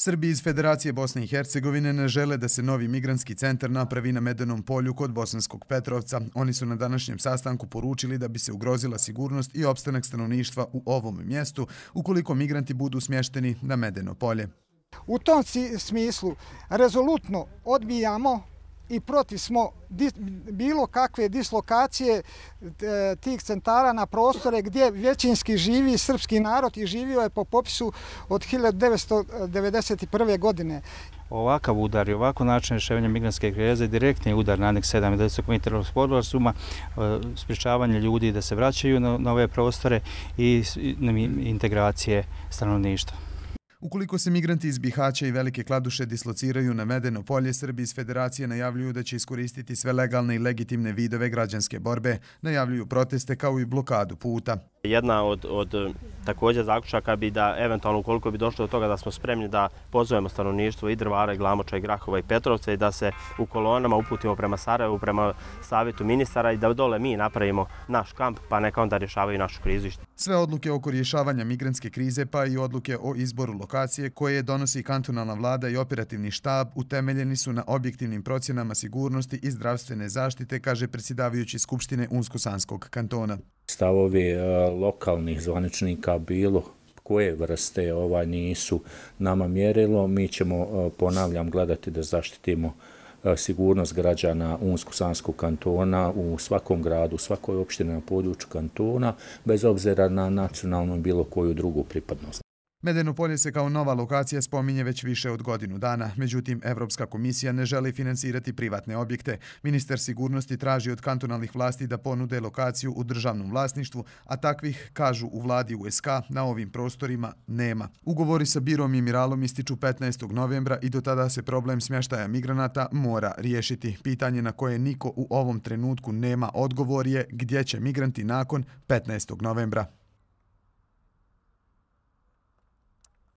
Srbi iz Federacije Bosne i Hercegovine ne žele da se novi migrantski centar napravi na Medenom polju kod Bosanskog Petrovca. Oni su na današnjem sastanku poručili da bi se ugrozila sigurnost i opstanak stanovništva u ovom mjestu ukoliko migranti budu smješteni na Medeno polje. U tom smislu rezolutno odbijamo i protiv smo bilo kakve dislokacije tih centara na prostore gdje većinski živi srpski narod i živio je po popisu od 1991. godine. Ovakav udar i ovako način rješavanja migrantske krize direktni udar na Aneks 7 Daytonskog Mirovnog sporazuma, sprječavanje ljudi da se vraćaju na ove prostore i integracije stanovništva. Ukoliko se migranti iz Bihaća i Velike Kladuše dislociraju na Medeno polje, Srbi iz Federacije najavljuju da će iskoristiti sve legalne i legitimne vidove građanske borbe, najavljuju proteste kao i blokadu puta. Jedna od također zaključaka bi da eventualno ukoliko bi došlo do toga da smo spremni da pozovemo stanovništvo i Drvara, i Glamoča, i Grahova, i Petrovca i da se u kolonama uputimo prema Sarajevu, prema savjetu ministara i da dole mi napravimo naš kamp pa neka onda rješavaju našu krizu. Sve odluke oko rješavanja migrantske krize pa i odluke o izboru lokacije koje donosi kantonalna vlada i operativni štab utemeljeni su na objektivnim procjenama sigurnosti i zdravstvene zaštite, kaže predsjedavajući Skupštine Unsko-Sanskog kantona. Stavovi lokalnih zvaničnika bilo koje vrste nisu nama mjerilo. Mi ćemo, ponavljam, gledati da zaštitimo sigurnost građana Unsko-Sanskog kantona u svakom gradu, u svakoj opštini na području kantona, bez obzira na nacionalnu i bilo koju drugu pripadnost. Medeno polje se kao nova lokacija spominje već više od godinu dana. Međutim, Evropska komisija ne želi finansirati privatne objekte. Ministar sigurnosti traži od kantonalnih vlasti da ponude lokaciju u državnom vlasništvu, a takvih, kažu u vladi USK, na ovim prostorima nema. Ugovori sa Birom i Miralom ističu 15. novembra i do tada se problem smještaja migranata mora riješiti. Pitanje na koje niko u ovom trenutku nema odgovor je gdje će migranti nakon 15. novembra.